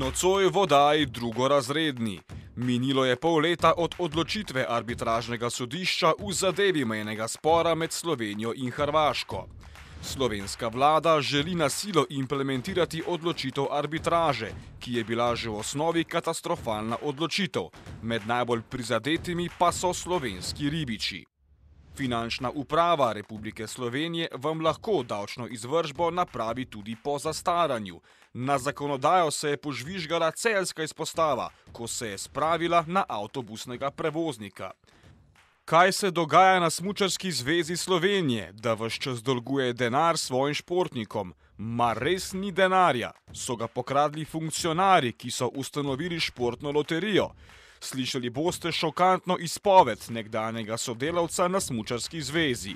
Nocoj v oddaji Drugorazredni. Minilo je pol leta od odločitve arbitražnega sodišča v zadevi mejnega spora med Slovenijo in Hrvaško. Slovenska vlada želi na silo implementirati odločitev arbitraže, ki je bila že v osnovi katastrofalna odločitev. Med najbolj prizadetimi pa so slovenski ribiči. Finančna uprava Republike Slovenije vam lahko davčno izvršbo napravi tudi po zastaranju. Na zakonodajo se je požvižgala celjska izpostava, ko se je spravila na avtobusnega prevoznika. Kaj se dogaja na Smučarski zvezi Slovenije, da ves čas dolguje denar svojim športnikom? Mar res ni denarja? So ga pokradli funkcionarji, ki so ustanovili športno loterijo? Slišali boste šokantno izpoved nekdanjega sodelavca na Smučarski zvezi.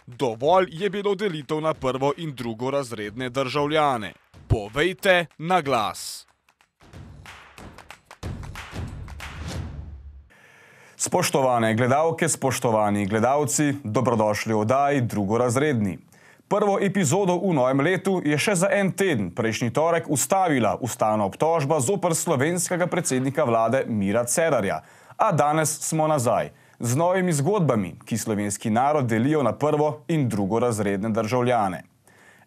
Dovolj je bilo delitev na prvo- in drugorazredne državljane. Povejte na glas. Spoštovane gledalke, spoštovani gledalci, dobrodošli v oddaji Drugorazredni. Prvo epizodo v novem letu je še za en teden prejšnji torek ustavila ustavna obtožba zoper slovenskega predsednika vlade Mira Cerarja. A danes smo nazaj z novimi zgodbami, ki slovenski narod delijo na prvo- in drugorazredne državljane.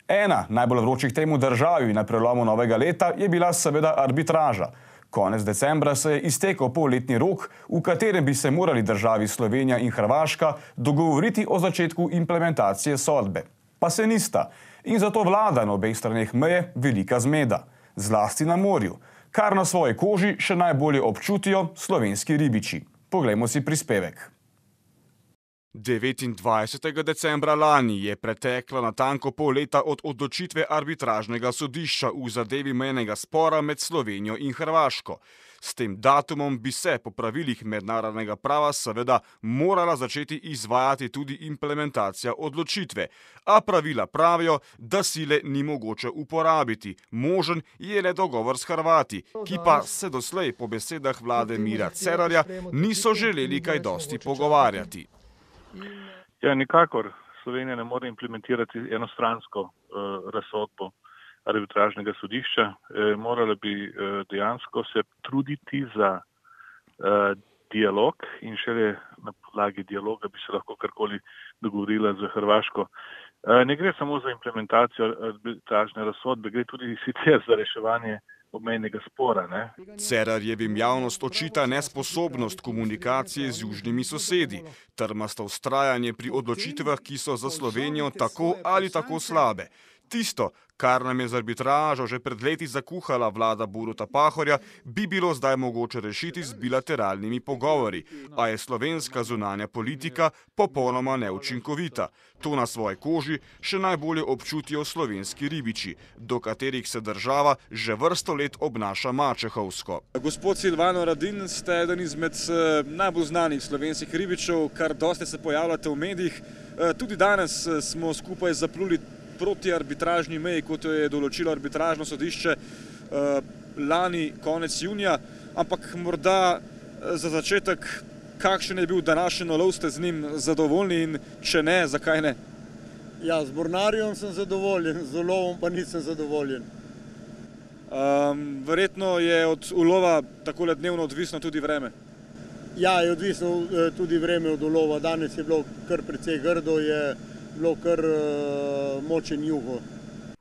Ena najbolj vročih tem v državi na prelomu novega leta je bila seveda arbitraža. Konec decembra se je iztekel polletni rok, v katerem bi se morali državi Slovenija in Hrvaška dogovoriti o začetku implementacije sodbe. Pa se nista. In zato vlada na obeh straneh meje velika zmeda. Zlasti na morju, kar na svoji koži še najbolje občutijo slovenski ribiči. Poglejmo si prispevek. 29. decembra lani je preteklo natanko pol leta od odločitve arbitražnega sodišča v zadevi mejnega spora med Slovenijo in Hrvaško. S tem datumom bi se po pravilih mednarodnega prava seveda morala začeti izvajati tudi implementacija odločitve, a pravila pravijo, da sile ni mogoče uporabiti. Možen je le dogovor s Hrvati, ki pa se doslej po besedah vlade Mira Cerarja niso želeli kaj dosti pogovarjati. Ja, nikakor Slovenija ne more implementirati enostransko razsodbo arbitražnega sodišča. Morala bi dejansko se truditi za dialog in šele na podlagi dialoga bi se lahko karkoli dogovorila z Hrvaško. Ne gre samo za implementacijo arbitražne razsodbe, gre tudi sicer za reševanje obmejnega spora. Cerarjevim javnost očita nesposobnost komunikacije z južnimi sosedi, trmasto vztrajanje pri odločitvah, ki so za Slovenijo tako ali tako slabe. Tisto, kar nam je z arbitražo že pred leti zakuhala vlada Boruta Pahorja, bi bilo zdaj mogoče rešiti z bilateralnimi pogovori, a je slovenska zunanja politika popolnoma neučinkovita. To na svoji koži še najbolje občutijo slovenski ribiči, do katerih se država že vrsto let obnaša mačehovsko. Gospod Silvano Radin, ste eden izmed najbolj znanih slovenskih ribičev, kar dosti se pojavljate v medijih. Tudi danes smo skupaj zapluli proti arbitražni meji, kot jo je določilo arbitražno sodišče lani konec junija, ampak morda za začetek, kakšen je bil današnji ulov, ste z njim zadovoljni in če ne, zakaj ne? Ja, z mornarjem sem zadovoljen, z ulovom pa nisem zadovoljen. Verjetno je od ulova takole dnevno odvisno tudi vreme. Ja, je odvisno tudi vreme od ulova. Danes je bilo kar precej grdo, je bilo kar močen jugo.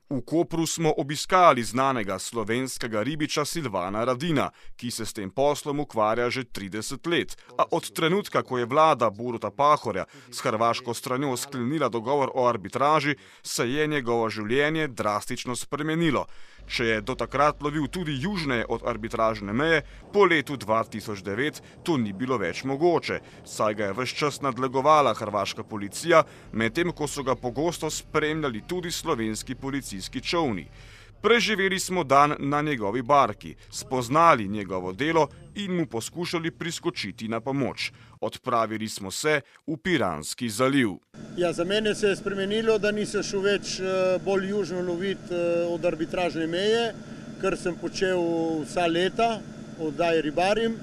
V Kopru smo obiskali znanega slovenskega ribiča Silvana Radina, ki se s tem poslom ukvarja že 30 let. A od trenutka, ko je vlada Boruta Pahorja s hrvaško stranjo sklenila dogovor o arbitraži, se je njegovo življenje drastično spremenilo. Če je do takrat lovil tudi južneje od arbitražne meje, po letu 2009 to ni bilo več mogoče, saj ga je ves čas nadlegovala hrvaška policija, medtem ko so ga pogosto spremljali tudi slovenski policijski čolni. Preživeli smo dan na njegovi barki, spoznali njegovo delo in mu poskušali priskočiti na pomoč. Odpravili smo se v Piranski zaliv. Ja, za mene se je spremenilo, da nisem šel več bolj južno loviti od arbitražne meje, kar sem počel vsa leta, oddaj ribarim.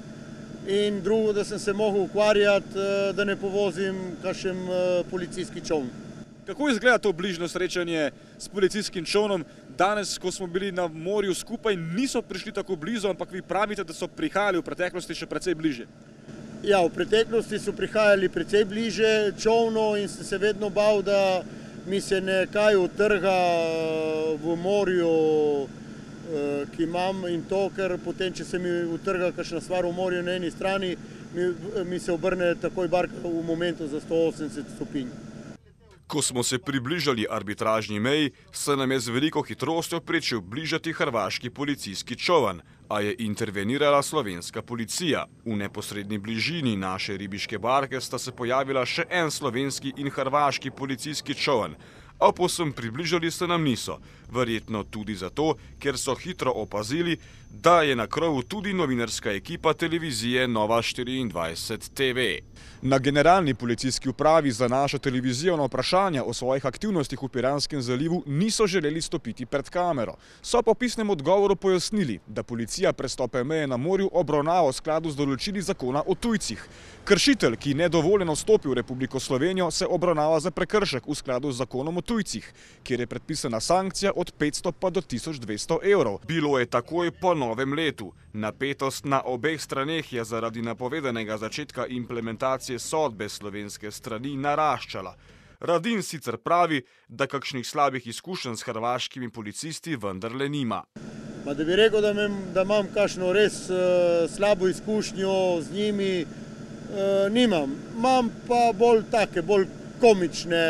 In drugo, da sem se mogel ukvarjati, da ne povozim kakšen policijski čoln. Kako izgleda to bližnjo srečanje s policijskim čolnom, danes, ko smo bili na morju skupaj, niso prišli tako blizu, ampak vi pravite, da so prihajali v preteklosti še precej bliže. Ja, v preteklosti so prihajali precej bliže čolno in sem se vedno bal, da mi se nekaj utrga v morju, ki imam, in to, ker potem, če se mi utrga kakšna stvar v morju na eni strani, mi se obrne takoj barka v momentu za 180 stopinj. Ko smo se približali arbitražni meji, se nam je z veliko hitrostjo pričel bližati hrvaški policijski čoln, a je intervenirala slovenska policija. V neposredni bližini naše ribiške barke sta se pojavila še en slovenski in hrvaški policijski čoln, a povsem približali se nam niso, verjetno tudi zato, ker so hitro opazili, da je na krovu tudi novinarska ekipa televizije Nova 24 TV. Na generalni policijski upravi za našo televizijo na vprašanja o svojih aktivnostih v Piranskem zalivu niso želeli stopiti pred kamero. So po pisnem odgovoru pojasnili, da policija prestope meje na morju obravnava v skladu z določili zakona o tujcih. Kršitelj, ki nedovoljeno vstopi v Republiko Slovenijo, se obravnava za prekršek v skladu z zakonom o tujcih, kjer je predpisana sankcija od 500 pa do 1200 evrov. Bilo je takoj po novem letu. Napetost na obeh straneh je zaradi napovedanega začetka implementacije sodbe slovenske strani naraščala. Radin sicer pravi, da kakšnih slabih izkušenj s hrvaškimi policisti vendarle nima. Da bi rekel, da imam kakšno res slabo izkušnjo z njimi, nimam. Imam pa bolj komične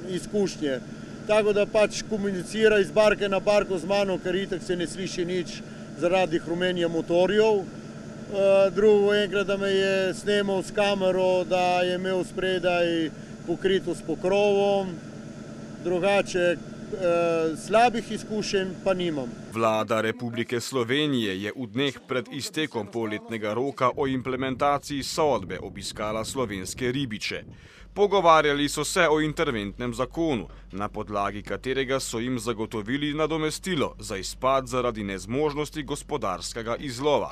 izkušnje. Tako da pač komunicira iz barke na barko z mano, ker itak se ne sliši nič zaradi hrumenja motorjev. Drugo enkrat, da me je snemal s kamero, da je imel spredaj pokrito s pokrovom. Drugače slabih izkušenj pa nimam. Vlada Republike Slovenije je v dneh pred iztekom polletnega roka o implementaciji sodbe obiskala slovenske ribiče. Pogovarjali so se o interventnem zakonu, na podlagi katerega so jim zagotovili nadomestilo za izpad zaradi nezmožnosti gospodarskega izlova.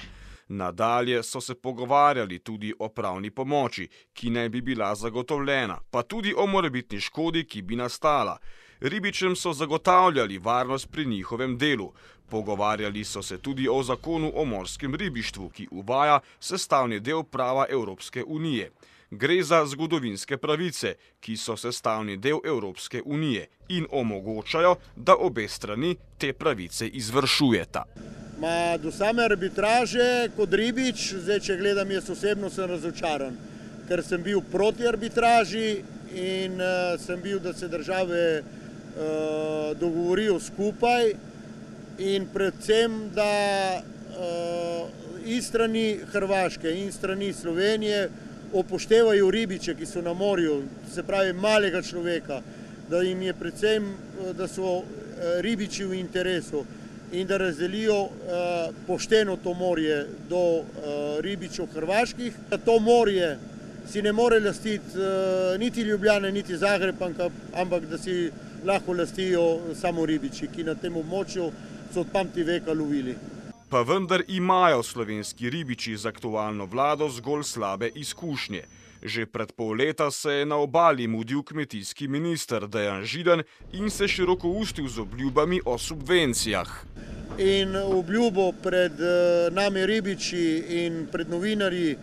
Nadalje so se pogovarjali tudi o pravni pomoči, ki naj bi bila zagotovljena, pa tudi o morebitni škodi, ki bi nastala. Ribičem so zagotavljali varnost pri njihovem delu. Pogovarjali so se tudi o zakonu o morskem ribištvu, ki uvaja sestavni del prava Evropske unije. Gre za zgodovinske pravice, ki so sestavni del Evropske unije in omogočajo, da obe strani te pravice izvršujeta. Do same arbitraže kot ribič, zdaj če gledam, jaz osebno sem razočaran, ker sem bil proti arbitraži in sem bil, da se države dogovorijo skupaj in predvsem, da iz strani Hrvaške in strani Slovenije upoštevajo ribiče, ki so na morju, se pravi malega človeka, da jim je predvsem, da so ribiči v interesu in da razdelijo pošteno to morje do ribičev hrvaških. To morje si ne more lastiti niti Ljubljana, niti Zagreb, ampak da si lahko lastijo samo ribiči, ki na tem območju so od pameti veka lovili. Pa vendar imajo slovenski ribiči z aktualno vlado zgolj slabe izkušnje. Že pred pol leta se je na obali mudil kmetijski minister Dejan Židan in se širokoustil z obljubami o subvencijah. In obljubo pred nami ribiči in pred novinarji,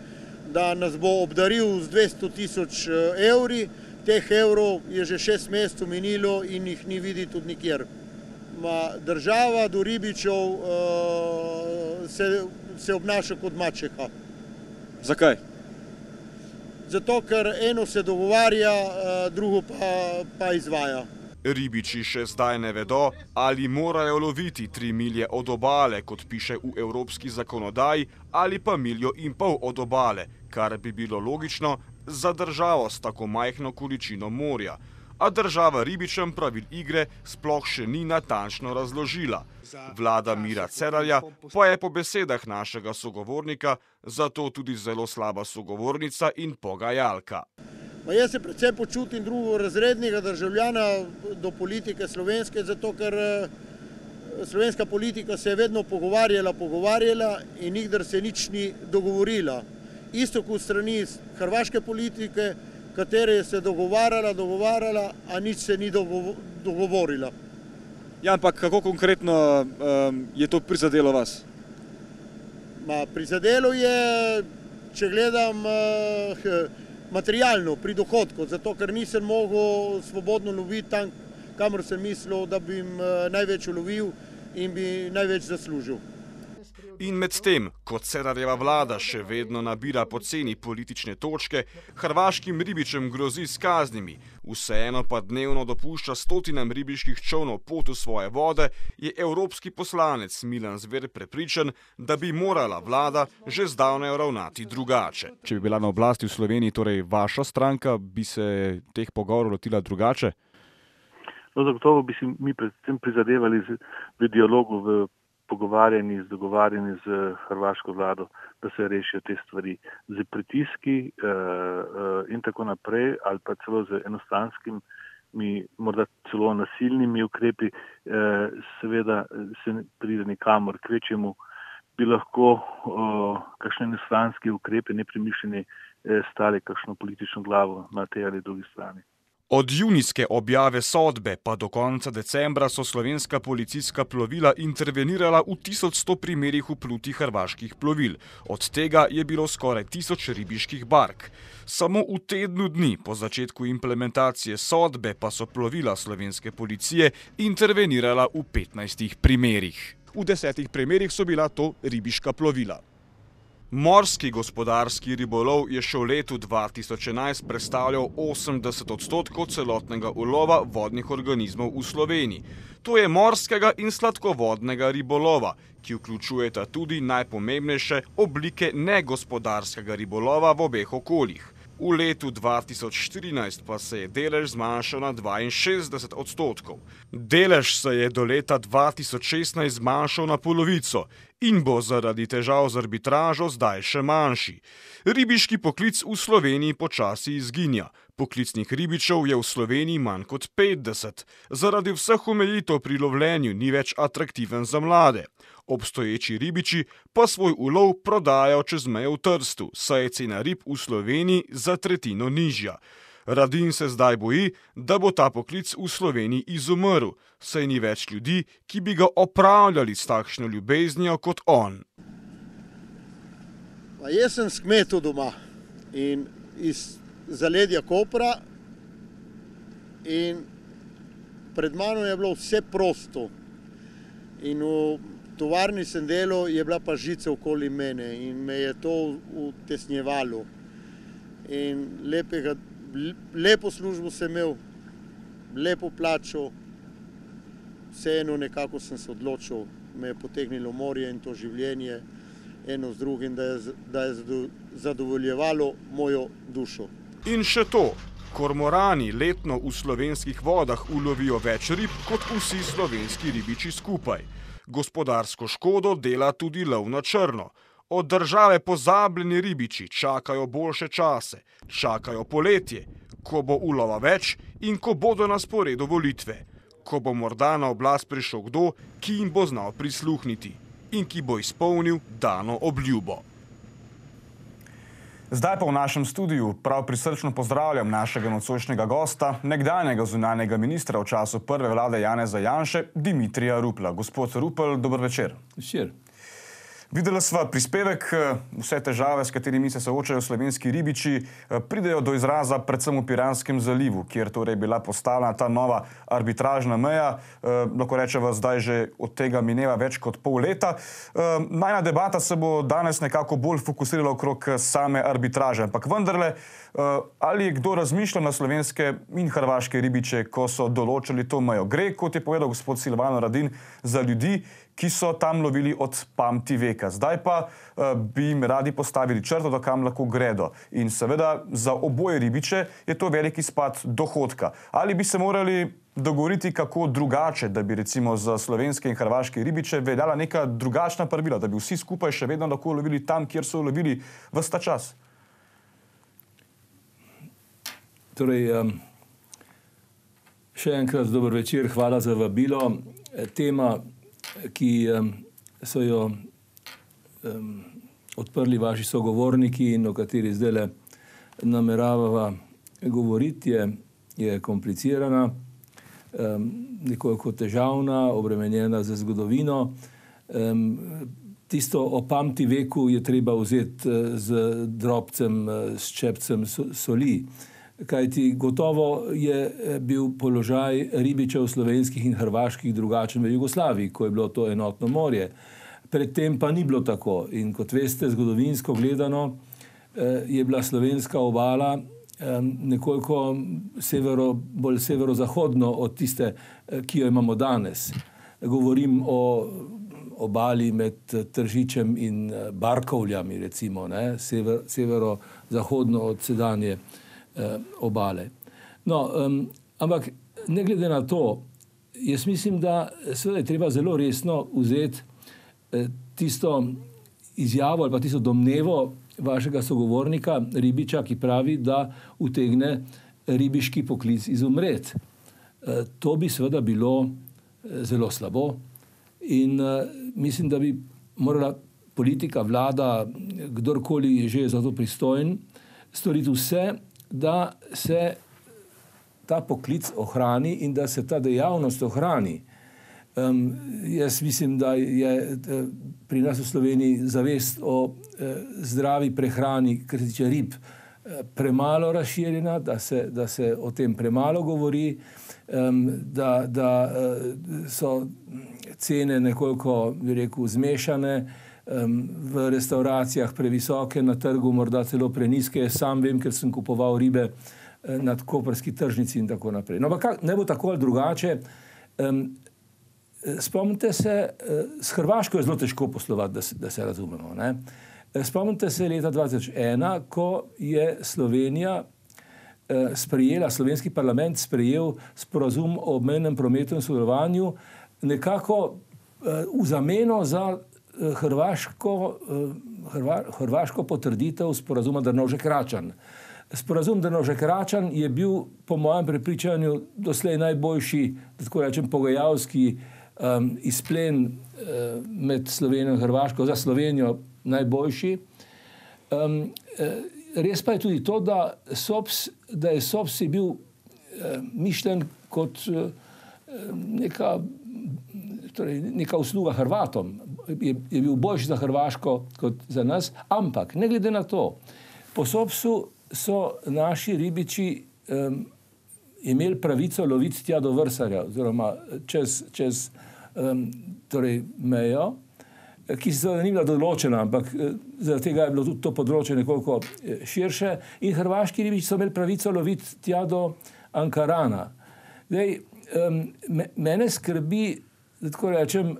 da nas bo obdaril z 200 000 evri, teh evrov je že 6 mesecev minilo in jih ni videti tudi nikjer. Država do ribičev se obnaša kot mačeha. Zakaj? Zato, ker eno se dogovarja, drugo pa izvaja. Ribiči še zdaj ne vedo, ali morajo loviti 3 milje od obale, kot piše v evropski zakonodaji, ali pa 1,5 milje od obale, kar bi bilo logično za državo s tako majhno količino morja. A država ribičem pravil igre sploh še ni natančno razložila. Vlada Mira Cerarja pa je po besedah našega sogovornika zato tudi zelo slaba sogovornica in pogajalka. Jaz se predvsem počutim drugorazrednega državljana do politike slovenske, zato ker slovenska politika se je vedno pogovarjala in nikdar se nič ni dogovorila. Isto kot strani hrvaške politike, katere se dogovarjala, a nič se ni dogovorila. Ja, ampak kako konkretno je to prizadelo vas? Prizadelo je, če gledam materialno, pri dohodku, zato ker nisem mogel svobodno loviti tam, kamor sem mislil, da bi največ ulovil in bi največ zaslužil. In medtem, ko Cerarjeva vlada še vedno nabira poceni politične točke, hrvaškim ribičem grozi s kaznimi, vseeno pa dnevno dopušča stotinam ribiških čolnov pot v svoje vode, je evropski poslanec Milan Zver prepričan, da bi morala vlada že zdavnaj ravnati drugače. Če bi bila na oblasti v Sloveniji, torej vaša stranka, bi se teh pogovorov lotila drugače? No, zagotovo bi si mi predvsem prizadevali v dialogu, v pogovarjanji, dogovarjanji z hrvaško vlado, da se rešijo te stvari z pritiski in tako naprej, ali pa celo z enostranskimi, morda celo nasilnimi ukrepi, seveda se ne pride nikamor. Kvečjemu bi lahko kakšne enostranske ukrepe, nepremišljeni, stali kakšno politično glavo na tej ali drugi strani. Od junijske objave sodbe pa do konca decembra so slovenska policijska plovila intervenirala v 1100 primerih vplutih hrvaških plovil. Od tega je bilo skoraj 1000 ribiških bark. Samo v tednu dni po začetku implementacije sodbe pa so plovila slovenske policije intervenirala v 15 primerih. V 10 primerih so bila to ribiška plovila. Morski gospodarski ribolov je še v letu 2011 predstavljal 80% celotnega ulova vodnih organizmov v Sloveniji. To je morskega in sladkovodnega ribolova, ki vključujeta tudi najpomembnejše oblike negospodarskega ribolova v obeh okoljih. V letu 2014 pa se je delež zmanjšal na 62%. Delež se je do leta 2016 zmanjšal na polovico in bo zaradi težav z arbitražo zdaj še manjši. Ribiški poklic v Sloveniji počasi izginja. Poklicnih ribičev je v Sloveniji manj kot 50. Zaradi vseh omejitev pri lovljenju ni več atraktiven za mlade. Obstoječi ribiči pa svoj ulov prodajajo čez mejo v Trstu, saj je cena rib v Sloveniji za tretjino nižja. Radin se zdaj boji, da bo ta poklic v Sloveniji izumrl, saj ni več ljudi, ki bi ga opravljali s takšno ljubeznijo kot on. Jaz sem s kmetov doma in iz zaledja Kopra in pred mano je bilo vse prosto. In v tovarni sem delal, je bila pa žica okoli mene in me je to utesnjevalo. In lepo službo sem imel, lepo plačo, vseeno nekako sem se odločil, me je potegnilo morje in to življenje eno z drugim, da je zadovoljevalo mojo dušo. In še to, kormorani letno v slovenskih vodah ulovijo več rib kot vsi slovenski ribiči skupaj. Gospodarsko škodo dela tudi lov na črno. Od države pozabljeni ribiči čakajo boljše čase, čakajo poletje, ko bo ulova več in ko bodo na sporedu volitve, ko bo morda na oblast prišel kdo, ki jim bo znal prisluhniti in ki bo izpolnil dano obljubo. Zdaj pa v našem studiu prav prisrčno pozdravljam našega nocojšnjega gosta, nekdanjega zunanjega ministra v času prve vlade Janeza Janše, Dimitrija Rupla. Gospod Rupel, dober večer. Večer. Videli sva prispevek, vse težave, s katerimi se soočajo slovenski ribiči, pridejo do izraza predvsem v Piranskem zalivu, kjer torej bila postavljena ta nova arbitražna meja. Lahko rečeva, zdaj že od tega mineva več kot pol leta. Najna debata se bo danes nekako bolj fokusirala okrog same arbitraže, ampak vendarle, ali je kdo razmišljal na slovenske in hrvaške ribiče, ko so določili to mejo? Gre, kot je povedal gospod Silvano Radin, za ljudi, ki so tam lovili od pamti veka. Zdaj pa bi jim radi postavili črto, do kam lahko gredo. In seveda za oboje ribiče je to velik izpad dohodka. Ali bi se morali dogovoriti kako drugače, da bi recimo za slovenske in hrvaške ribiče veljala neka drugačna pravila, da bi vsi skupaj še vedno lahko lovili tam, kjer so lovili ves ta čas? Torej, še enkrat dober večer, hvala za vabilo. Tema, ki so jo odprli vaši sogovorniki in o kateri zdaj nameravava govoriti, je komplicirana. nekoliko težavna, obremenjena z zgodovino. Tisto o pamtiveku je treba vzeti z drobcem, s čepcem soli. Kajti gotovo je bil položaj ribičev slovenskih in hrvaških drugačen v Jugoslaviji, ko je bilo to enotno morje. Predtem pa ni bilo tako. In kot veste, zgodovinsko gledano je bila slovenska obala nekoliko bolj severozahodno od tiste, ki jo imamo danes. Govorim o obali med Tržičem in Barkovljami, recimo, severozahodno od sedanje obale. No, ampak ne glede na to, jaz mislim, da seveda je treba zelo resno vzeti tisto izjavo ali pa tisto domnevo vašega sogovornika, ribiča, ki pravi, da utegne ribiški poklic izumreti. To bi seveda bilo zelo slabo in mislim, da bi morala politika, vlada, kdorkoli je že za to pristojen, storiti vse, da se ta poklic ohrani in da se ta dejavnost ohrani. Jaz mislim, da je pri nas v Sloveniji zavest o zdravi prehrani, kar se tiče rib, premalo razširjena, da se o tem premalo govori, da so cene nekoliko, bi rekel, zmešane, v restauracijah previsoke, na trgu morda celo preniske. Sam vem, ker sem kupoval ribe na koprski tržnici in tako naprej. No, pa ne bo tako ali drugače. Spomnite se, s Hrvaško je zelo težko poslovati, da se razumemo. Ne? Spomnite se leta 2001, ko je Slovenija slovenski parlament sprejel sporazum o obmejnem prometu in sodelovanju nekako v zameno za hrvaško potrditev sporazuma Drnovšek-Račan. Sporazum Drnovšek-Račan je bil po mojem prepričanju doslej najboljši, da tako rečem, pogajalski izplen med Slovenijo in Hrvaško, za Slovenijo najboljši. Res pa je tudi to, da je SOPS bil mišljen kot neka usluga Hrvatom. Je bil boljši za Hrvaško kot za nas, ampak ne glede na to, po SOPS-u so naši ribiči imeli pravico loviti tja do Vrsarja, oziroma čez mejo, ki se ni bila določena, ampak zaradi tega je bilo tudi to področje nekoliko širše, in hrvaški ribiči so imeli pravico loviti tja do Ankarana. Zdaj, mene skrbi, da tako rečem,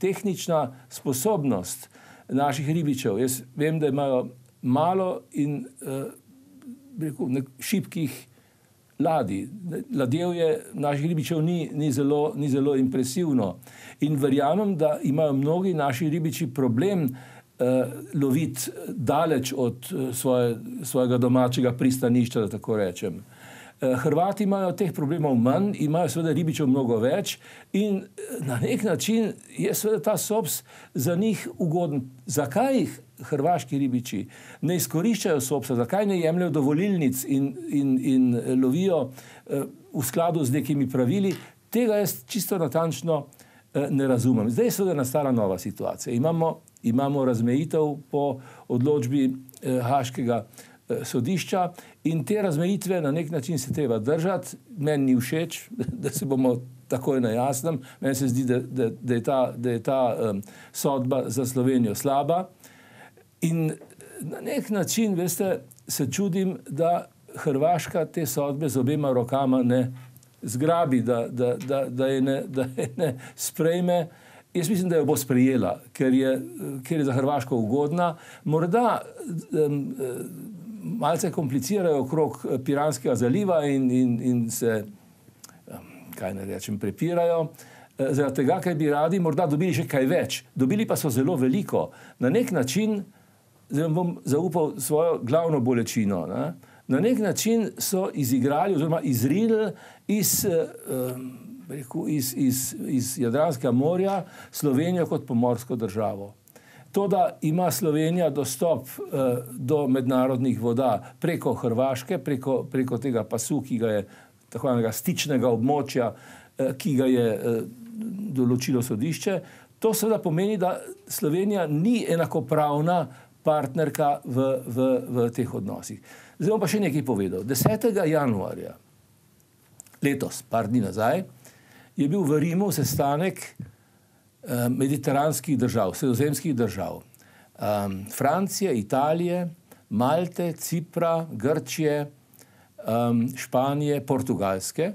tehnična sposobnost naših ribičev. Jaz vem, da imajo malo in šibkih ladij. Ladjevje naših ribičev ni zelo impresivno. In verjamem, da imajo mnogi naši ribiči problem loviti daleč od svojega domačega pristanišča, da tako rečem. Hrvati imajo teh problemov manj, imajo seveda ribičev mnogo več in na nek način je seveda ta SOPS za njih ugoden. Zakaj hrvaški ribiči ne izkoriščajo SOPS-a, zakaj ne jemljajo dovolilnic in lovijo v skladu z nekimi pravili, tega jaz čisto natančno ne razumem. Zdaj je seveda nastala nova situacija. Imamo razmejitev po odločbi Haškega sodišča in te razmejitve na nek način se treba držati. Meni ni všeč, da se bomo takoj na jasnem. Meni se zdi, da je ta sodba za Slovenijo slaba. In na nek način, veste, se čudim, da Hrvaška te sodbe z obema rokama ne zgrabi, da je ne sprejme. Jaz mislim, da jo bo sprejela, ker je za Hrvaško ugodna. Morda malce komplicirajo okrog Piranskega zaliva in se, kaj ne rečem, prepirajo. Zaradi tega, ker bi radi morda dobili še kaj več. Dobili pa so zelo veliko. Na nek način, zdaj bom zaupal svojo glavno bolečino, na nek način so izigrali oziroma izrinili iz Jadranskega morja Slovenijo kot pomorsko državo. To, da ima Slovenija dostop do mednarodnih voda preko Hrvaške, preko tega pasu, ki ga je tako imenega stičnega območja, ki ga je določilo sodišče. To seveda pomeni, da Slovenija ni enakopravna partnerka v teh odnosih. Zdaj bom pa še nekaj povedal. 10. januarja letos, par dni nazaj, je bil v Rimu sestanek mediteranskih držav, sredozemskih držav. Francije, Italije, Malte, Cipra, Grčije, Španije, Portugalske.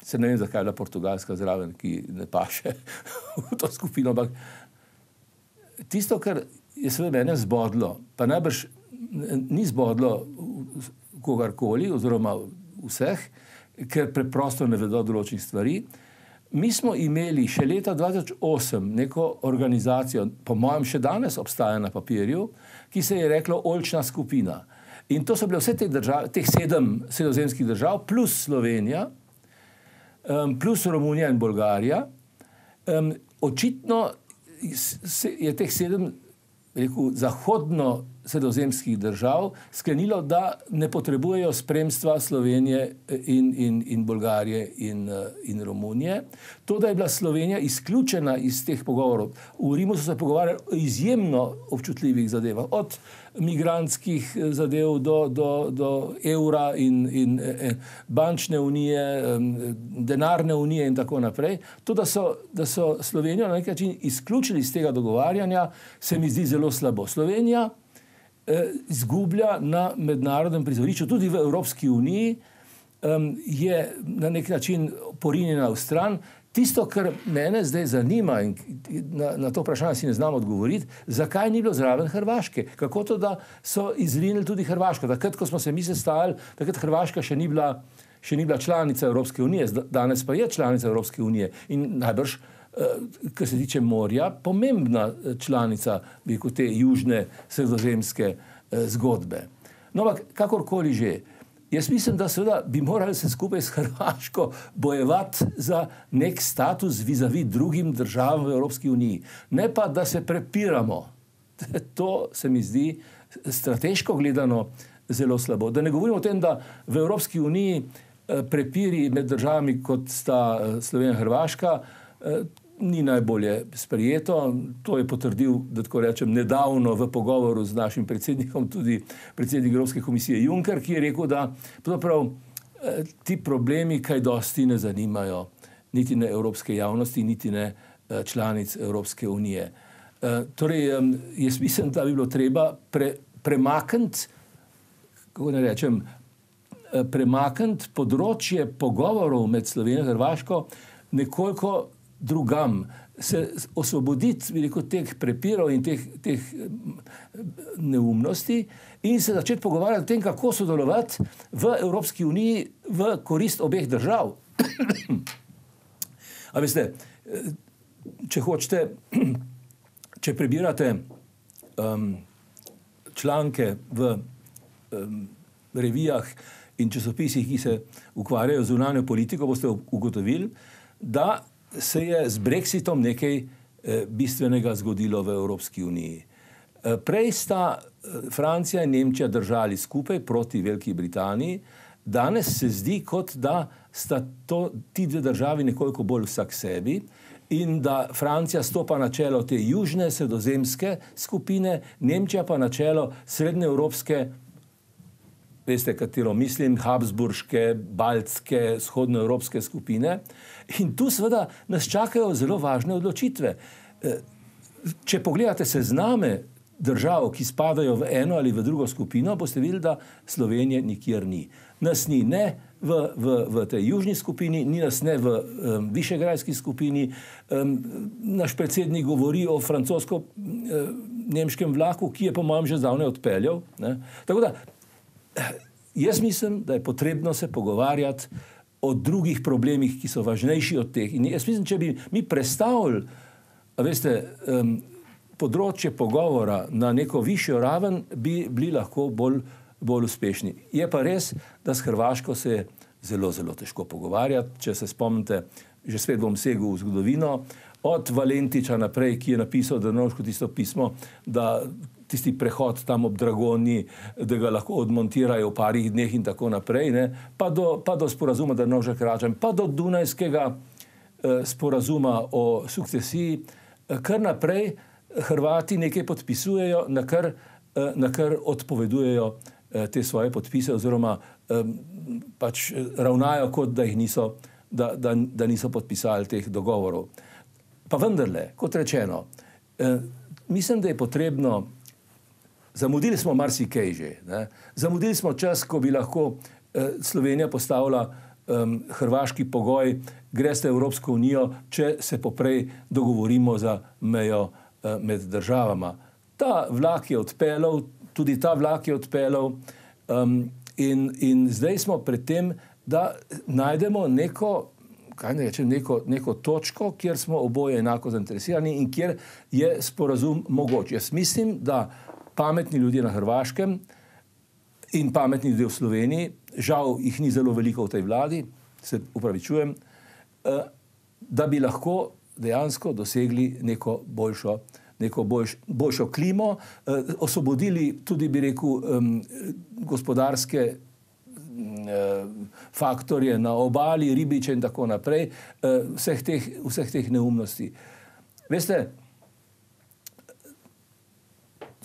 Se ne vem, zakaj je bila Portugalska zraven, ki ne paše v to skupino, ampak tisto, kar je seveda mene zbodlo, pa najbrž ni zbodlo kogarkoli, oziroma vseh, ker preprosto ne vedo določenih stvari. Mi smo imeli še leta 2008 neko organizacijo, po mojem še danes obstaja na papirju, ki se je reklo Oljčna skupina. In to so bile vse te države, teh 7 sredozemskih držav, plus Slovenija, plus Romunija in Bolgarija. Očitno je teh 7 zahodno-sredozemskih držav sklenilo, da ne potrebujejo spremstva Slovenije in Bolgarije in Romunije. To, da je bila Slovenija izključena iz teh pogovorov. V Rimu so se pogovarjali o izjemno občutljivih zadevah, od migrantskih zadev do evra in bančne unije, denarne unije in tako naprej. To, da so Slovenijo na nek način izključili iz tega dogovarjanja, se mi zdi zelo slabo. Slovenija izgublja na mednarodnem prizorišču, tudi v Evropski uniji, je na nek način porinjena v stran. Tisto, kar mene zdaj zanima in na to vprašanje si ne znam odgovoriti, zakaj ni bilo zraven Hrvaške? Kako to, da so izrinili tudi Hrvaško? Takrat, ko smo se mi sestajali, takrat Hrvaška še ni bila članica Evropske unije, danes pa je članica Evropske unije in najbrž, kar se tiče morja, pomembna članica te južne sredozemske zgodbe. No, ampak kakorkoli že, jaz mislim, da seveda bi morali se skupaj s Hrvaško bojevati za nek status vis-a-vis drugim državam v Evropski uniji. Ne pa, da se prepiramo. To se mi zdi strateško gledano zelo slabo. Da ne govorimo o tem, da v Evropski uniji prepiri med državami, kot sta Slovenija in Hrvaška, ni najbolje sprejeto. To je potrdil, da tako rečem, nedavno v pogovoru z našim predsednikom, tudi predsednik Evropske komisije Juncker, ki je rekel, da pravzaprav ti problemi kaj dosti ne zanimajo niti ne evropske javnosti, niti ne članic Evropske unije. Torej, jaz mislim, da bi bilo treba premakniti, kako ne rečem, premakniti področje pogovorov med Slovenijo in Hrvaško nekoliko drugam, se osvoboditi teh prepirov in teh neumnosti in se začeti pogovarjati o tem, kako sodelovati v Evropski uniji v korist obeh držav. A veste, če hočete, če prebirate članke v revijah in časopisih, ki se ukvarjajo z zunanjo politiko, boste ugotovili, da se je z Brexitom nekaj bistvenega zgodilo v Evropski uniji. Prej sta Francija in Nemčija držali skupaj proti Veliki Britaniji, danes se zdi, kot da sta ti dve državi nekoliko bolj vsak sebi in da Francija stopa na čelo te južne sredozemske skupine, Nemčija pa na čelo srednjeevropske, veste, katero mislim, habsburške, baltske, vzhodnoevropske skupine. In tu seveda nas čakajo zelo važne odločitve. Če pogledate sezname držav, ki spadajo v eno ali v drugo skupino, boste videli, da Slovenije nikjer ni. Nas ni ne v tej južni skupini, ni nas ne v višegrajski skupini. Naš predsednik govori o francosko-nemškem vlaku, ki je po mojem že zdavnaj odpeljal. Tako da, jaz mislim, da je potrebno se pogovarjati o drugih problemih, ki so važnejši od teh. In jaz mislim, če bi mi prestavili, veste, področje pogovora na neko višjo raven, bi bili lahko bolj uspešni. Je pa res, da s Hrvaško se je zelo, zelo težko pogovarjati. Če se spomnite, že spet bom segel v zgodovino, od Valentiča naprej, ki je napisal Drnovšku tisto pismo, da tisti prehod tam ob Dragoni, da ga lahko odmontirajo v parih dneh in tako naprej, ne, pa do sporazuma Drnovšek-Račan, pa do Dunajskega sporazuma o sukcesiji, kar naprej Hrvati nekaj podpisujejo, na kar odpovedujejo te svoje podpise oziroma pač ravnajo, kot da jih niso, da niso podpisali teh dogovorov. Pa vendarle, kot rečeno, mislim, da je potrebno, zamudili smo marsikaj že, ne? Zamudili smo čas, ko bi lahko Slovenija postavila hrvaški pogoj, greste v Evropsko unijo, če se poprej dogovorimo za mejo med državama. Ta vlak je odpeljal, tudi ta vlak je odpeljal in zdaj smo pred tem, da najdemo neko točko, kjer smo oboje enako zainteresirani in kjer je sporazum mogoč. Jaz mislim, da pametni ljudje na Hrvaškem in pametni ljudje v Sloveniji, žal jih ni zelo veliko v tej vladi, se upravičujem, da bi lahko dejansko dosegli neko boljšo klimo, osvobodili tudi, bi rekel, gospodarske faktorje na obali, ribiče in tako naprej, vseh teh neumnosti. Veste,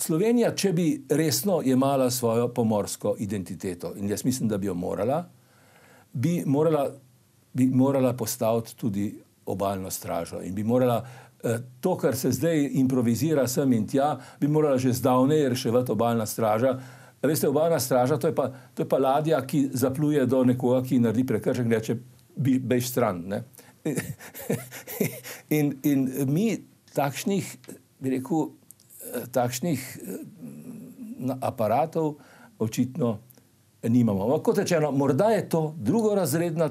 Slovenija, če bi resno jemala svojo pomorsko identiteto, in jaz mislim, da bi jo bi morala postaviti tudi obalno stražo in bi morala to, kar se zdaj improvizira sem in tja, bi morala že zdavnej reševati obalna straža. Veste, obalna straža, to je pa ladja, ki zapluje do nekoga, ki naredi prekršek, reče, bež stran. Ne? in mi takšnih, bi rekel, takšnih aparatov očitno nimamo. Kot rečeno, morda je to drugorazredna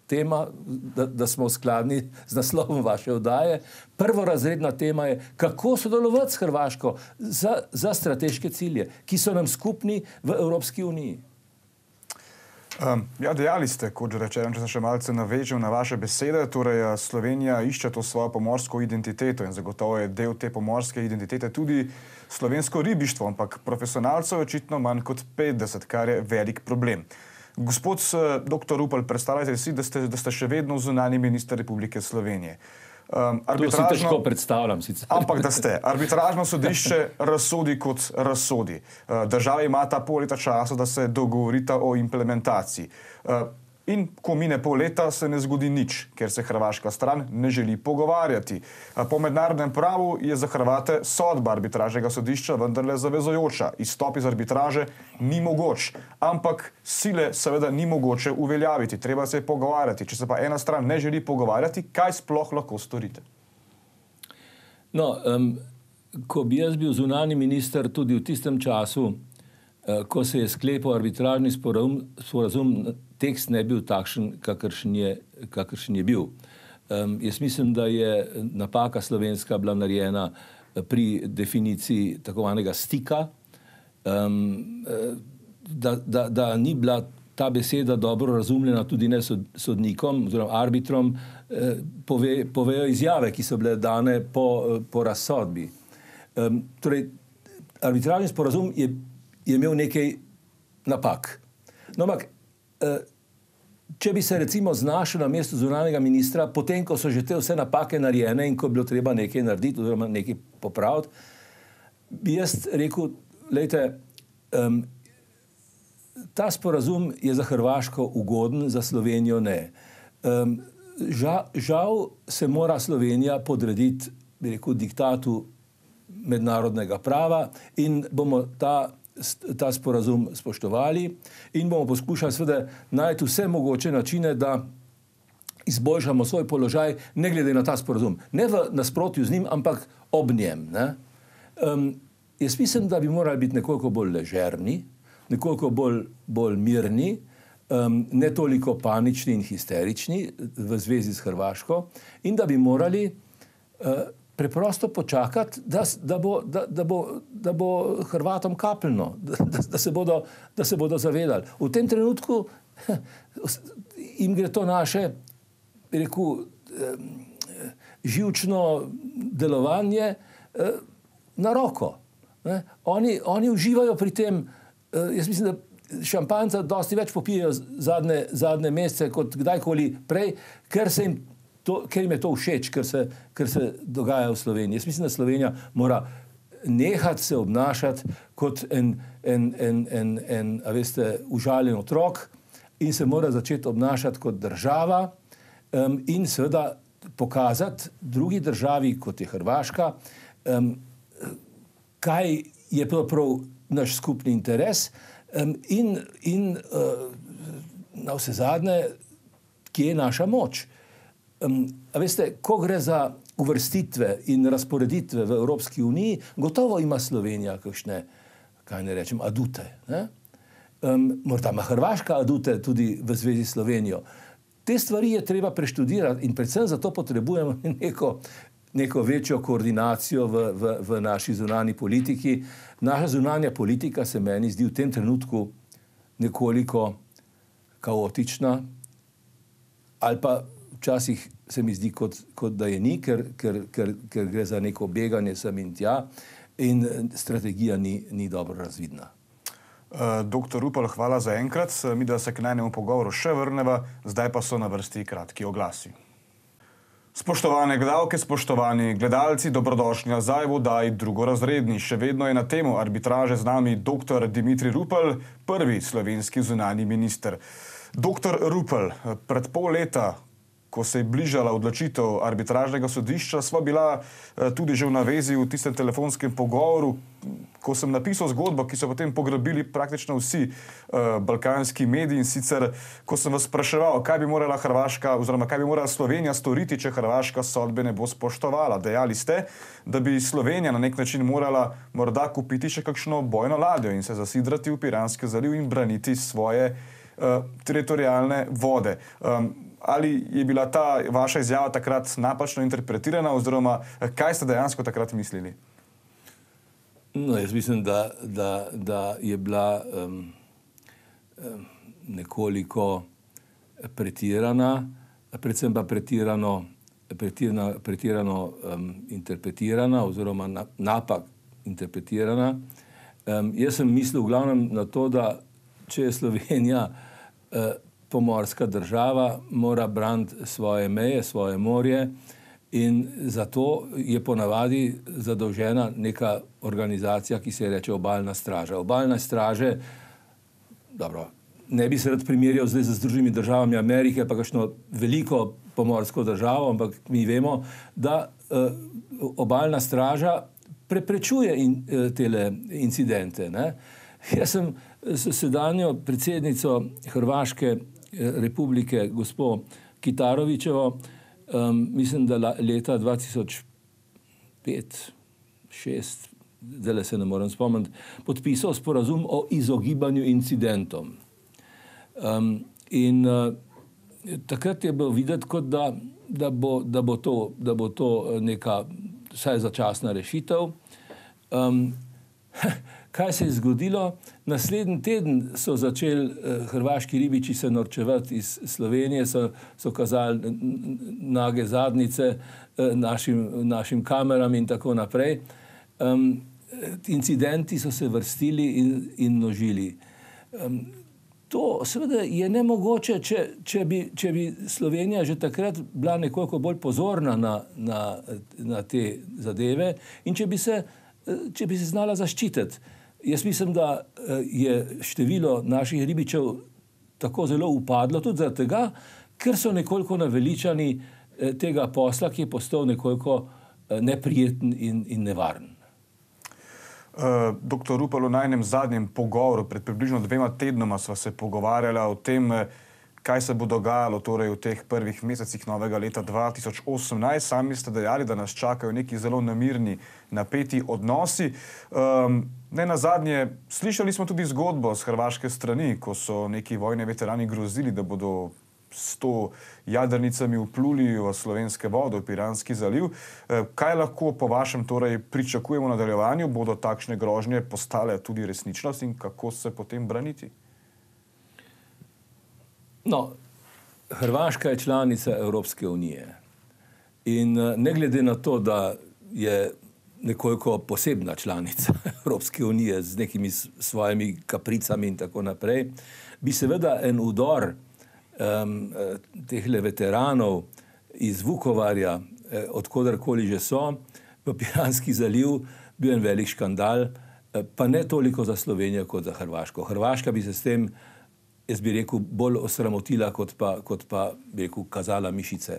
tema, da smo skladni z naslovom vaše oddaje. Prvorazredna tema je, kako sodelovati s Hrvaško za strateške cilje, ki so nam skupni v Evropski uniji. Ja, dejali ste, kot že rečeno, če se še malce navežem na vaše besede, torej Slovenija išče to svojo pomorsko identiteto in zagotovo je del te pomorske identitete tudi slovensko ribištvo, ampak profesionalcev je očitno manj kot 50, kar je velik problem. Gospod dr. Rupel, predstavljajte si, da ste še vedno zunanji minister Republike Slovenije. To si težko predstavljam sicer. Ampak da ste. Arbitražno sodišče razsodi kot razsodi. Država ima ta pol leta časa, da se dogovorita o implementaciji. In ko mine pol leta, se ne zgodi nič, ker se hrvaška stran ne želi pogovarjati. Po mednarodnem pravu je za Hrvate sodba arbitražnega sodišča vendarle zavezujoča. Izstop iz arbitraže ni mogoč, ampak sile seveda ni mogoče uveljaviti. Treba se je pogovarjati. Če se pa ena stran ne želi pogovarjati, kaj sploh lahko storite? No, ko bi jaz bil zunanji minister tudi v tistem času, ko se je sklepal arbitražni sporazum, tekst ne bil takšen, kakršen je bil. Jaz mislim, da je napaka slovenska bila narejena pri definiciji tako zvanega stika, da ni bila ta beseda dobro razumljena tudi ne sodnikom oziroma arbitrom, povejo izjave, ki so bile dane po razsodbi. Torej, arbitražni sporazum je imel nekaj napak. No, ampak, če bi se recimo znašel na mestu zunanjega ministra, potem, ko so že te vse napake narejene in ko bi bilo treba nekaj narediti oziroma nekaj popraviti, bi jaz rekel, glejte, ta sporazum je za Hrvaško ugoden, za Slovenijo ne. Žal se mora Slovenija podrediti, bi rekel, diktatu mednarodnega prava in bomo ta sporazum spoštovali in bomo poskušali seveda najti vse mogoče načine, da izboljšamo svoj položaj, ne glede na ta sporazum. Ne v nasprotju z njim, ampak ob njem. Jaz mislim, da bi morali biti nekoliko bolj ležerni, nekoliko bolj mirni, ne toliko panični in histerični v zvezi s Hrvaško in da bi morali preprosto počakati, da bo Hrvatom kapljno, da se bodo zavedali. V tem trenutku jim gre to naše, bi rekel, živčno delovanje na roko. Ne? Oni uživajo pri tem, jaz mislim, da šampanjca dosti več popijejo zadnje mesece kot kdajkoli prej, ker jim je to všeč, ker se dogaja v Sloveniji. Jaz mislim, da Slovenija mora nehati se obnašati kot en užaljen otrok in se mora začeti obnašati kot država in seveda pokazati drugi državi, kot je Hrvaška, kaj je pravzaprav naš skupni interes in na vse zadnje, kje je naša moč. A veste, ko gre za uvrstitve in razporeditve v Evropski uniji, gotovo ima Slovenija kakšne, kaj ne rečem, adute. Ne? Morda ima Hrvaška adute tudi v zvezi s Slovenijo. Te stvari je treba preštudirati in predvsem zato potrebujemo neko večjo koordinacijo v naši zunanji politiki. Naša zunanja politika se meni zdi v tem trenutku nekoliko kaotična, ali pa včasih se mi zdi, kot da je ni, ker gre za neko beganje sem in tja in strategija ni dobro razvidna. Doktor Rupel, hvala za enkrat. Mi da se k najnemu pogovoru še vrneva, zdaj pa so na vrsti kratki oglasi. Spoštovane gledalke, spoštovani gledalci, dobrodošli nazaj v oddaji Drugorazredni. Še vedno je na temo arbitraže z nami dr. Dimitrij Rupel, prvi slovenski zunanji minister. Dr. Rupel, pred pol leta, ko se je bližala odločitev arbitražnega sodišča, sva bila tudi že v navezi v tistem telefonskem pogovoru, ko sem napisal zgodbo, ki so potem pograbili praktično vsi balkanski mediji, in sicer, ko sem vas spraševal, kaj bi morala Hrvaška oziroma kaj bi morala Slovenija storiti, če Hrvaška sodbe ne bo spoštovala. Dejali ste, da bi Slovenija na nek način morala morda kupiti še kakšno bojno ladjo in se zasidrati v Piranski zaliv in braniti svoje teritorijalne vode. Ali je bila ta vaša izjava takrat napačno interpretirana oziroma kaj ste dejansko takrat mislili? No, jaz mislim, da je bila nekoliko pretirana, predvsem pa pretirano interpretirana oziroma napak interpretirana. Jaz sem mislil v glavnem na to, da če je Slovenija pomorska država, mora braniti svoje meje, svoje morje in zato je ponavadi zadolžena neka organizacija, ki se reče Obalna straža. Obalne straže, dobro, ne bi se rad primerjal zdaj z Združenimi državami Amerike, pa kakšno veliko pomorsko državo, ampak mi vemo, da Obalna straža preprečuje tele incidente. Ne? Jaz sem s sedanjo predsednico Hrvaške republike, gospo Kitarovićevo, mislim, da leta 2005-2006, zdaj se ne morem spomniti, podpisal sporazum o izogibanju incidentom. In takrat je bilo videti, kot da bo to neka vsaj začasna rešitev. Kaj se je zgodilo? Naslednji teden so začeli hrvaški ribiči se norčevati iz Slovenije, so kazali nage zadnjice našim kameram in tako naprej. Incidenti so se vrstili in množili. To seveda je nemogoče, če bi Slovenija že takrat bila nekoliko bolj pozorna na te zadeve in če bi se znala zaščititi. Jaz mislim, da je število naših ribičev tako zelo upadlo tudi zaradi tega, ker so nekoliko naveličani tega posla, ki je postal nekoliko neprijeten in nevaren. Doktor Rupel, v najnem zadnjem pogovoru pred približno 2 tednoma sva se pogovarjala o tem, kaj se bo dogajalo torej v teh prvih mesecih novega leta 2018. Sami ste dejali, da nas čakajo neki zelo namirni, napeti odnosi. Ne nazadnje, slišali smo tudi zgodbo z hrvaške strani, ko so neki vojni veterani grozili, da bodo s to jadrnicami vpluli v slovenske vode, v Piranski zaliv. Kaj lahko po vašem torej pričakujemo v nadaljevanju? Bodo takšne grožnje postale tudi resničnost in kako se potem braniti? No, Hrvaška je članica Evropske unije in ne glede na to, da je nekoliko posebna članica Evropske unije z nekimi svojimi kapricami in tako naprej, bi seveda en udor tehle veteranov iz Vukovarja, odkodarkoli že so, v Piranski zaliv bil en velik škandal, pa ne toliko za Slovenijo kot za Hrvaško. Hrvaška bi se s tem, jaz bi rekel, bolj osramotila, kot pa bi rekel, kazala mišice.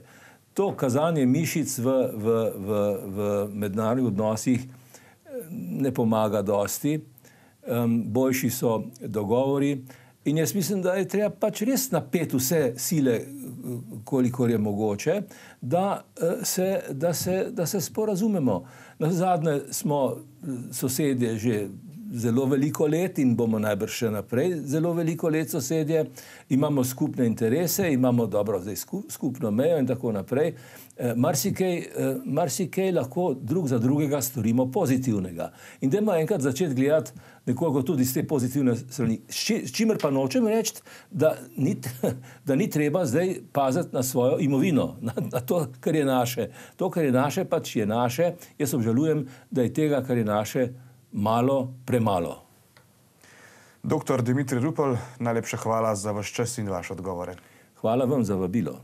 To kazanje mišic v mednarodnih odnosih ne pomaga dosti. Boljši so dogovori in jaz mislim, da je treba pač res napeti vse sile, kolikor je mogoče, da se sporazumemo. Nazadnje smo sosedje že zelo veliko let in bomo najbrž še naprej zelo veliko let sosedje, imamo skupne interese, imamo dobro zdaj skupno mejo in tako naprej. Marsikaj lahko drug za drugega storimo pozitivnega. In dajmo enkrat začeti gledati nekoliko tudi z te pozitivne strani. S čimer pa nočem reči, da ni treba zdaj paziti na svojo imovino, na to, kar je naše. To, kar je naše, pač je naše. Jaz obžalujem, da je tega, kar je naše, malo, premalo. Dr. Dimitrij Rupel, najlepša hvala za vaš čas in vaše odgovore. Hvala vam za vabilo.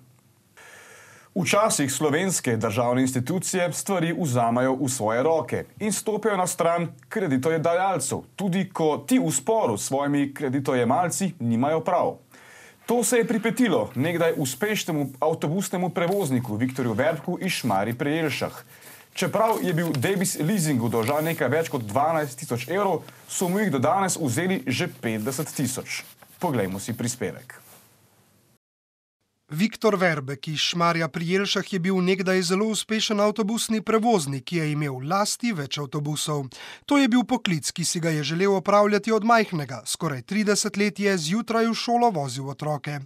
Včasih slovenske državne institucije stvari vzamajo v svoje roke in stopijo na stran kreditojedajalcev, tudi ko ti v sporu s svojimi kreditojemalci nimajo prav. To se je pripetilo nekdaj uspešnemu avtobusnemu prevozniku Viktorju Verbku iz Šmarij pri Jelšah. Čeprav je bil Debis Leasingu dolžan nekaj več kot 12 000 evrov, so mu jih do danes vzeli že 50 000. Poglejmo si prispevek. Viktor Verbek iz Šmarja pri Jelšah je bil nekdaj zelo uspešen avtobusni prevoznik, ki je imel v lasti več avtobusov. To je bil poklic, ki si ga je želel opravljati od majhnega. Skoraj 30 let je zjutraj v šolo vozil otroke.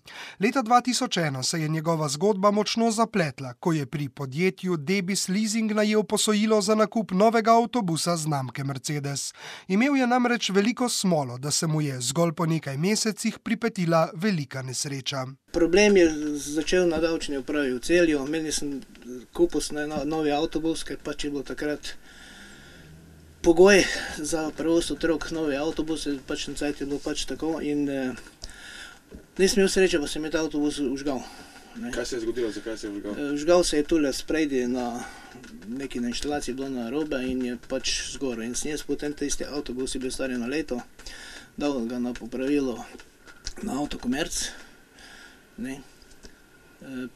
Leta 2001 se je njegova zgodba močno zapletla, ko je pri podjetju Debis Leasing najel posojilo za nakup novega avtobusa znamke Mercedes. Imel je namreč veliko smolo, da se mu je zgolj po nekaj mesecih pripetila velika nesreča. Problem je začel na davčni upravi v Celju. Meni sem kupil novi avtobus, ker pač je bil takrat pogoj za prevoz otrok novi avtobus, pač na cajt je bilo pač tako in nisem imel sreče, pa se mi je ta avtobus užgal. Kaj se je zgodilo, zakaj se je užgal? Užgal se je tule spredi na neki na inštalaciji bilo narobe in je pač zgorel. In sem jaz potem tisti avtobus je bil star eno leto, dal ga na popravilo na Avtokomerc. Ne.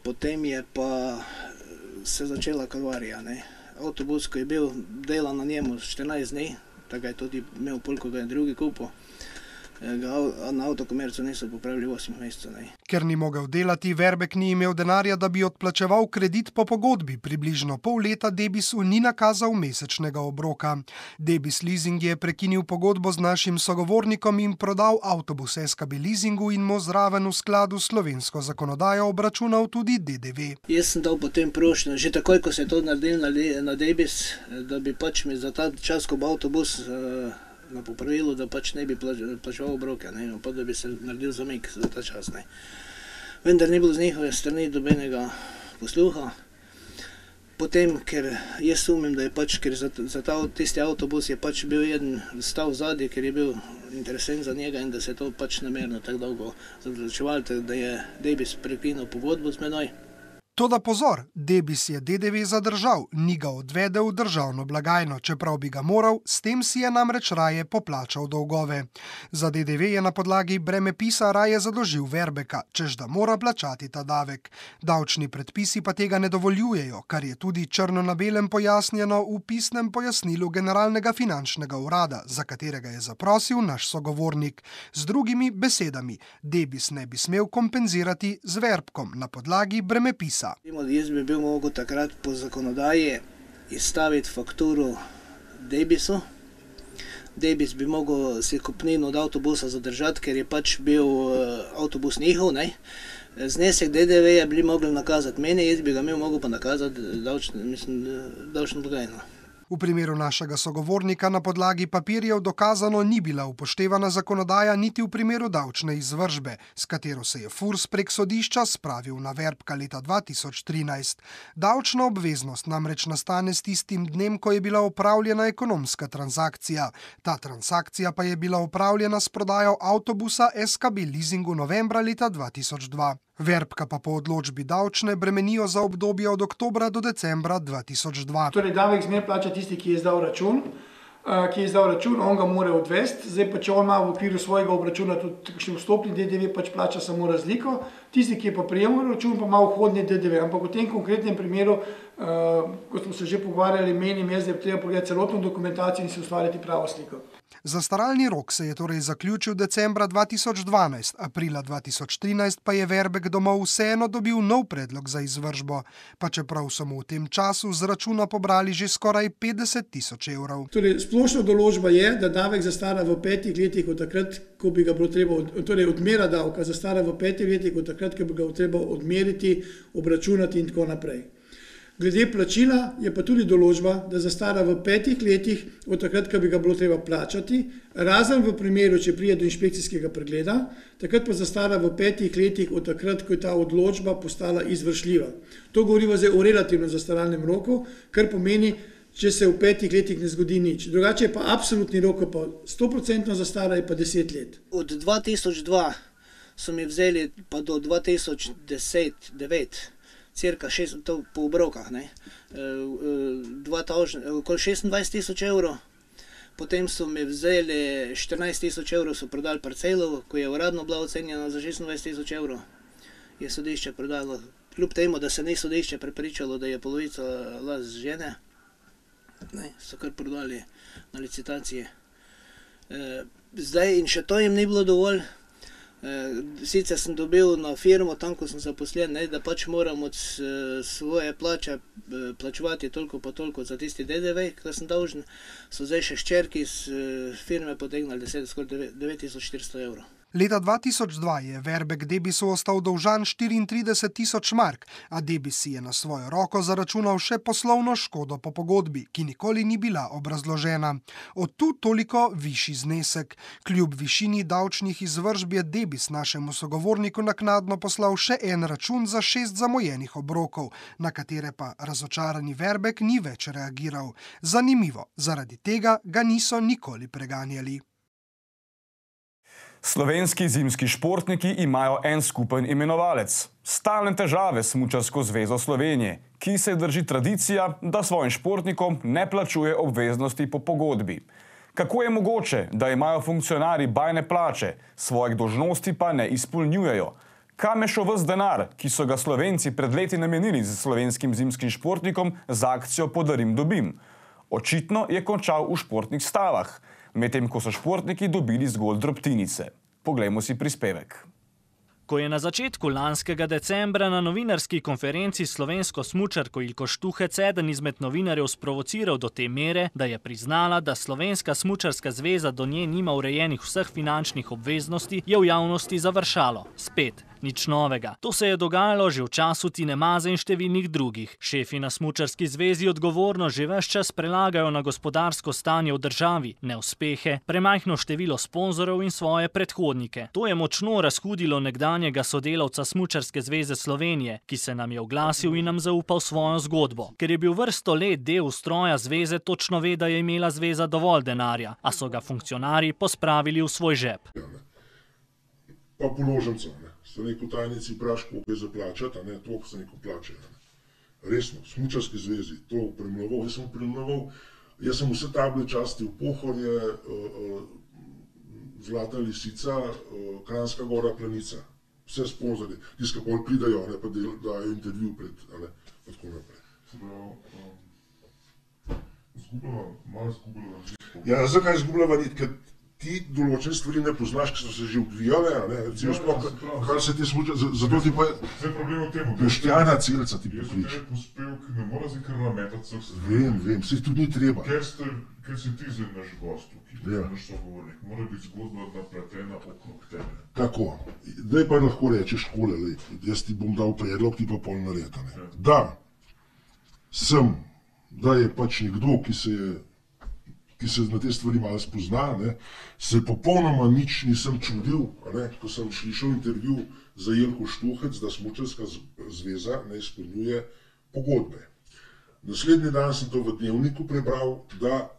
Potem je pa se začela kalvarija. Ne. Avtobus, ko je bil delan na njemu 14 dni, tako je tudi imel pol, ko ga je drugi kupil, na Avtokomercu niso popravili 8 mesecev. Ker ni mogel delati, Verbek ni imel denarja, da bi odplačeval kredit po pogodbi. Približno pol leta Debisu ni nakazal mesečnega obroka. Debis Leasing je prekinil pogodbo z našim sogovornikom in prodal avtobus SKB Leasingu in mu zraven v skladu s slovensko zakonodajo obračunal tudi DDV. Jaz sem dal potem prošnjo, že takoj, ko se je to naredil na Debis, da bi pač mi za ta čas, ko bo avtobus na popravilu, da pač ne bi plačeval obroke, pa da bi se naredil zamik za ta čas. Vendar ni bilo z njihove strani dobenega posluha. Potem, ker jaz sumim, da je pač, ker za tisti avtobus je pač bil jeden stav zadnji, ker je bil interesent za njega in da se je to pač namerno tako dolgo zavlačevalo, da je Debis prekinil pogodbo z menoj. Toda pozor, Debis je DDV zadržal, ni ga odvedel v državno blagajno, čeprav bi ga moral, s tem si je namreč raje poplačal dolgove. Za DDV je na podlagi bremepisa raje zadolžil Verbeka, češ da mora plačati ta davek. Davčni predpisi pa tega ne dovoljujejo, kar je tudi črno na belem pojasnjeno v pisnem pojasnilu Generalnega finančnega urada, za katerega je zaprosil naš sogovornik. Z drugimi besedami, Debis ne bi smel kompenzirati z Verbkom na podlagi bremepisa. Jaz bi bil mogel takrat po zakonodaji izstaviti fakturo Debisu. Debis bi mogel si kupnino od avtobusa zadržati, ker je pač bil avtobus njihov. Znesek DDV-ja bi mogli nakazati meni, jaz bi ga mogel pa nakazati davčno blagajno. V primeru našega sogovornika na podlagi papirjev dokazano ni bila upoštevana zakonodaja niti v primeru davčne izvršbe, s katero se je Furs prek sodišča spravil na Verbka leta 2013. Davčna obveznost namreč nastane s tistim dnem, ko je bila opravljena ekonomska transakcija. Ta transakcija pa je bila opravljena s prodajo avtobusa SKB Leasingu novembra leta 2002. Verbka pa po odločbi davčne bremenijo za obdobje od oktobra do decembra 2002. Torej, davek zmer plača tisti, ki je izdal račun, on ga mora odvesti. Zdaj pa, če on ima v okviru svojega obračuna tudi kakšen vstopni DDV, pač plača samo razliko. Tisti, ki je pa prejemal račun, pa ima vhodni DDV. Ampak v tem konkretnem primeru, kot smo se že pogovarjali, menim jaz, da je treba pogledati celotno dokumentacijo in si ustvariti pravo sliko. Zastaralni rok se je torej zaključil decembra 2012, aprila 2013 pa je Verbek domov vseeno dobil nov predlog za izvršbo, pa čeprav so mu v tem času z računa pobrali že skoraj 50.000 evrov. Torej, splošna določba je, da davek zastara v 5 letih od takrat, ko bi ga bilo treba, torej odmera davka zastara v 5 letih od takrat, ko bi ga treba odmeriti, obračunati in tako naprej. Glede plačila je pa tudi določba, da zastara v 5 letih od takrat, ko bi ga bilo treba plačati, razen v primeru, če pride do inšpekcijskega pregleda, takrat pa zastara v 5 letih od takrat, ko je ta odločba postala izvršljiva. To govorimo zdaj o relativnem zastaralnem roku, kar pomeni, če se v 5 letih ne zgodi nič. Drugače je pa absolutni rok, pa 100% zastara je pa 10 let. Od 2002 so mi vzeli pa do 2010-2009, cirka 6, to po obrokah, okoli 26.000 evrov. Potem so mi vzeli 14.000 evrov, so prodali parcelo, ko je uradno bila ocenjena za 26.000 evrov. Je sodišče prodalo, kljub temu, da se ni sodišče prepričalo, da je polovica last žene, so kar prodali na licitaciji. Zdaj in še to jim ni bilo dovolj. Sicer sem dobil na firmo, tam ko sem zaposlen, da pač moram od svoje plače plačevati toliko pa toliko za tisti DDV, kar sem dolžen. So zdaj še hčerki iz firme potegnali skoraj 9.400 evrov. Leta 2002 je Verbek Debisu ostal dolžan 34.000 mark, a Debis si je na svojo roko zaračunal še poslovno škodo po pogodbi, ki nikoli ni bila obrazložena. Od tu toliko višji znesek. Kljub višini davčnih izvršb je Debis našemu sogovorniku naknadno poslal še en račun za 6 zamojenih obrokov, na katere pa razočarani Verbek ni več reagiral. Zanimivo, zaradi tega ga niso nikoli preganjali. Slovenski zimski športniki imajo en skupen imenovalec. Stalne težave s Smučarsko zvezo Slovenije, ki se drži tradicija, da svojim športnikom ne plačuje obveznosti po pogodbi. Kako je mogoče, da imajo funkcionarji bajne plače, svojih dolžnosti pa ne izpolnjujejo? Kam je šel ves denar, ki so ga Slovenci pred leti namenili z slovenskim zimskim športnikom za akcijo Podarim dobim? Očitno je končal v športnih stavah, medtem ko so športniki dobili zgolj drobtinice. Poglejmo si prispevek. Ko je na začetku lanskega decembra na novinarski konferenci slovensko smučarko Ilko Štuhec eden izmed novinarjev sprovociral do te mere, da je priznala, da Slovenska smučarska zveza do nje nima urejenih vseh finančnih obveznosti, je v javnosti završalo. Spet. Nič novega. To se je dogajalo že v času Tine Maze in številnih drugih. Šefi na smučarski zvezi odgovorno že ves čas prelagajo na gospodarsko stanje v državi, neuspehe, premajhno število sponzorov in svoje predhodnike. To je močno razhudilo nekdanjega sodelavca Smučarske zveze Slovenije, ki se nam je oglasil in nam zaupal svojo zgodbo. Ker je bil vrsto let del ustroja zveze, točno ve, da je imela zveza dovolj denarja, a so ga funkcionarji pospravili v svoj žep. Pa položnico, se neko tajnici vpraš, koliko je za plačati, toliko se neko plače. Resno, v Smučarski zvezi, to premloval, jaz sem vse table časti v Pohorje, Zlata lisica, Kranjska gora, Planica, vse sponzorje, tisti, ki pol pridajo, pa dajo intervju pred, pa tako naprej. Malo zgubljava nit. Ja, zakaj zgubljava nit? Ker ti določene stvari ne poznaš, ki so se že odvijale, recimo sploh, kar se ti smuča, zato ti pa je Boštjana Celca ti poklič. Če je pospevk, ne mora zdaj kar nametati vseh stvari. Vem, saj tudi ni treba. Ker si ti zdaj naš gost tukaj, naš sogovornik, mora biti zgodba napletena okrog tebe. Tako, zdaj pa lahko rečeš takole, jaz ti bom dal predlog, ti pa pol naredi. Da sem da je pač nekdo, ki se na te stvari malo spozna, se popolnoma nič nisem čudil, ko sem slišal intervju za Jelko Štuhec, da Smučarska zveza ne izpolnjuje pogodbe. Naslednji dan sem to v Dnevniku prebral, da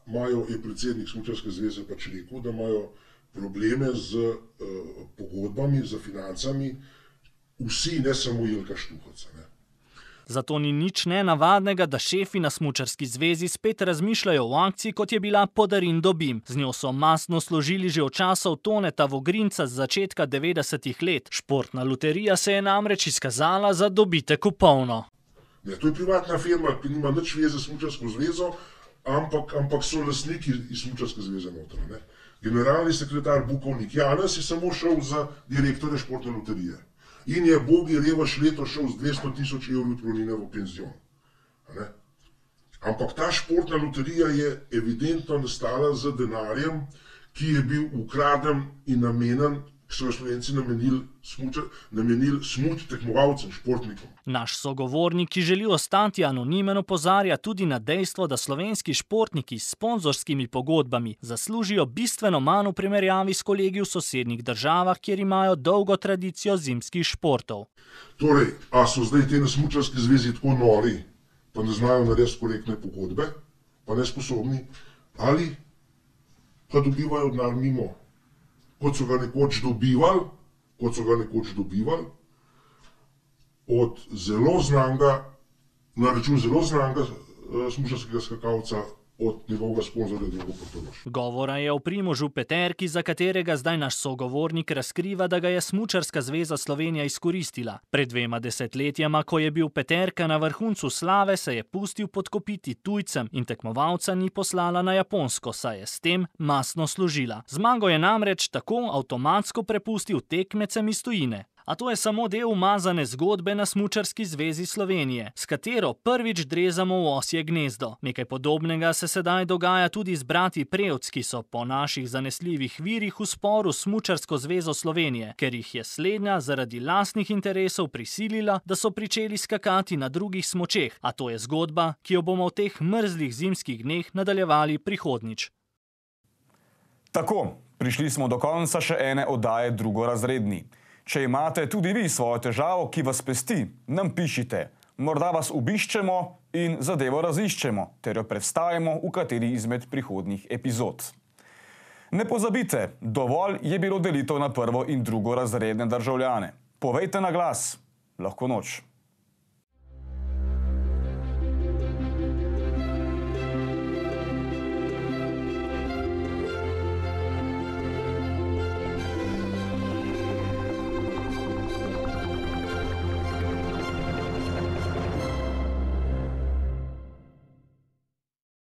je predsednik Smučarske zveze pač rekel, da imajo probleme z pogodbami, z financami, vsi, ne samo Jelka Štuhec. Zato ni nič nenavadnega, da šefi na Smučarski zvezi spet razmišljajo o akciji, kot je bila Podarin dobim. Z njo so mastno složili že od časov Toneta Vogrinca z začetka 90-ih let. Športna loterija se je namreč izkazala za dobitek v polno. To je privatna firma, ki nima nič veze s Smučarsko zvezo, ampak so lastniki iz Smučarske zveze noter. Generalni sekretar Bukovnik Janez je samo šel za direktorja športne loterije. In je Bogi Revaš letos šel z 200 000 evrov odpravnine v penzion. Ampak ta športna loterija je evidentno nastala z denarjem, ki je bil ukraden in namenjen, ki so ga Slovenci namenili smuč tekmovalcem, športnikom. Naš sogovornik, ki želi ostati anonimen, opozarja tudi na dejstvo, da slovenski športniki s sponzorskimi pogodbami zaslužijo bistveno manj v primerjavi s kolegi v sosednjih državah, kjer imajo dolgo tradicijo zimskih športov. Torej, a so zdaj te na Smučarski zvezi tako nori, pa ne znajo narediti korektne pogodbe, pa nesposobni, ali pa dobivajo denar mimo, kot so ga nekoč dobivali, od zelo znanega, na račun zelo znanega smučarskega skakalca, od njegovega sponzorja Drago Portorož. Govora je o Primožu Peterki, za katerega zdaj naš sogovornik razkriva, da ga je Smučarska zveza Slovenija izkoristila. Pred 2 desetletjema, ko je bil Peterka na vrhuncu slave, se je pustil podkopiti tujcem in tekmovalca ni poslala na Japonsko, saj je s tem mastno služila. Zmago je namreč tako avtomatsko prepustil tekmecem iz tujine. A to je samo del umazane zgodbe na Smučarski zvezi Slovenije, s katero prvič drezamo v osje gnezdo. Nekaj podobnega se sedaj dogaja tudi z brati Prevc, ki so po naših zanesljivih virih v sporu s Smučarsko zvezo Slovenije, ker jih je slednja zaradi lastnih interesov prisilila, da so pričeli skakati na drugih smučeh. A to je zgodba, ki jo bomo v teh mrzlih zimskih dneh nadaljevali prihodnjič. Tako, prišli smo do konca še ene oddaje Drugorazredni. Če imate tudi vi svojo težavo, ki vas pesti, nam pišite. Morda vas obiščemo in zadevo raziščemo, ter jo predstavimo v kateri izmed prihodnjih epizod. Ne pozabite, dovolj je bilo delitev na prvo- in drugorazredne državljane. Povejte na glas. Lahko noč.